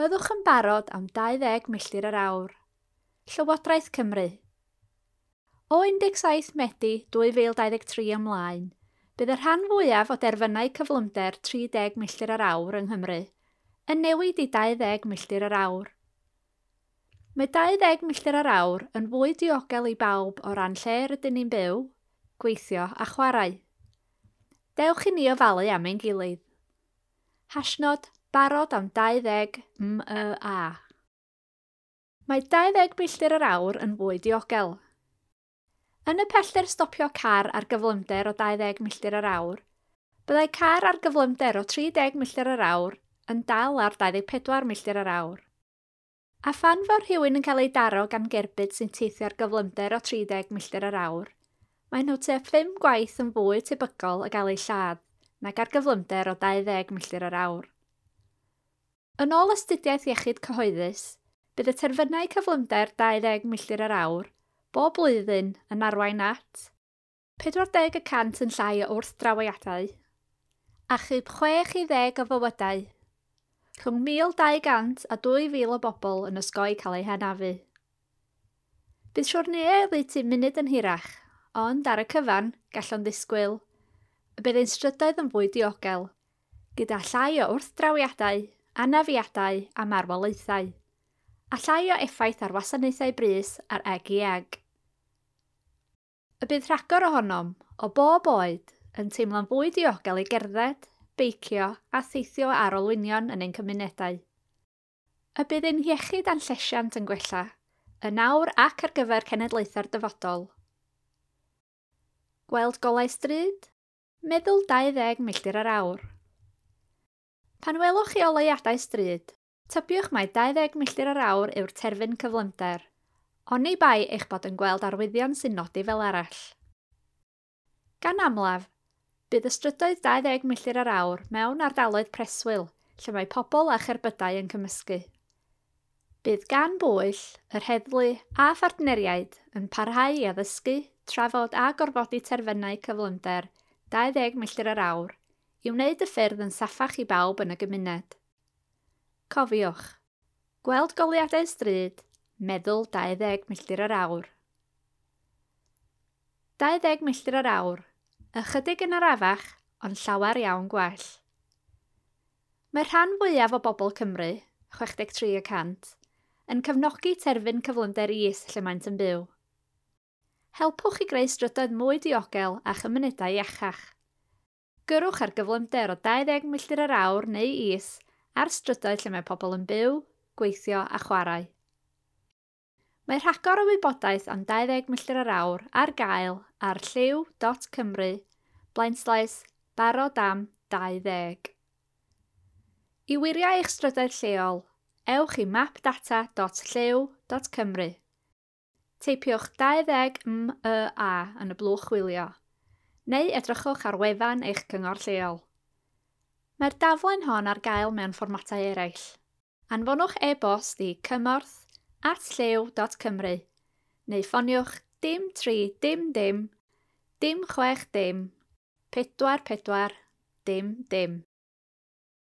Byddwch yn barod am 20 milltir yr awr. Llywodraeth Cymru. O 17 Medi 2023 ymlaen, bydd y rhan fwyaf o derfynau cyflymder 30 milltir yr awr yng Nghymru yn newid i 20 milltir yr awr. Mae 20 milltir yr awr yn fwy diogel i bawb o ran lle rydyn ni'n byw, gweithio a chwarae. Dewch i ni ofalu am ein gilydd. Hashnod barod am 20 MYA. Mae 20 milltir yr awr yn fwy diogel. Yn y pellter stopio car ar gyflymder o 20 milltir yr awr, byddai car ar gyflymder o 30 milltir yr awr yn dal ar 24 milltir yr awr. A phan fo rhywun yn cael ei daro gan gerbyd sy'n teithio ar gyflymder o 30 milltir yr awr, maen nhw tua 5 gwaith yn fwy tebygol o gael eu lladd nag ar gyflymder o 20 milltir yr awr. Yn ôl astudiaeth iechyd cyhoeddus, bydd y terfynau cyflymder 20 milltir yr awr bob blwyddyn yn arwain at 40% yn llai o wrthdrawiadau, achub 6 i 10 o fywydau, rhwng 1,200 a 2,000 o bobl yn osgoi cael eu hanafu. Bydd siwrneau oddeutu munud yn hirach, ond ar y cyfan, gallwn ddisgwyl y bydd ein strydoedd yn fwy diogel, gyda llai o wrthdrawiadau, anafiadau a marwolaethau, a llai o effaith ar wasanaethau brys a'r eg i eg. Y bydd rhagor ohonom, o bob oed, yn teimlo'n fwy diogel i gerdded, beicio a theithio ar olwynion yn ein cymunedau. Y bydd ein hiechyd a'n llesiant yn gwella, yn awr ac ar gyfer cenedlaethau'r dyfodol. Gweld golau stryd? Meddwl 20 milltir yr awr. Pan welwch chi oleuadau stryd, tybiwch mai 20 milltir yr awr yw'r terfyn cyflymder, oni bai eich bod yn gweld arwyddion sy'n nodi fel arall. Gan amlaf, bydd y strydoedd 20 milltir yr awr mewn ardaloedd preswyl lle mae pobl a cherbydau yn cymysgu. Bydd gan bwyll, yr heddlu a phartneriaid yn parhau i addysgu, trafod a gorfodi terfynau cyflymder 20 milltir yr awr i wneud y ffyrdd yn saffach i bawb yn y gymuned. Cofiwch, gweld goleuadau stryd, meddwl 20 milltir yr awr. 20 milltir yr awr, ychydig yn arafach, ond llawer iawn gwell. Mae'r rhan fwyaf o bobl Cymru, 63%, yn cefnogi terfyn cyflymder is lle maent yn byw. Helpwch i greu strydoedd mwy diogel a chymunedau iachach. Gyrrwch ar gyflymder o 20 milltir yr awr neu is ar strydoedd lle mae pobl yn byw, gweithio a chwarae. Mae rhagor o wybodaeth am 20 milltir yr awr ar gael ar llyw.cymru /barod am 20. I wirio eich strydoedd lleol, ewch i mapdata.llyw.cymru. Teipiwch 20 MYA yn y blwch chwilio, neu edrychwch ar wefan eich cyngor lleol. Mae'r daflen hon ar gael mewn fformatau eraill. Anfonwch e-bost i cymorth@llyw.cymru neu ffoniwch dim 3 dim dim dim 6 dim 4 4 dim dim.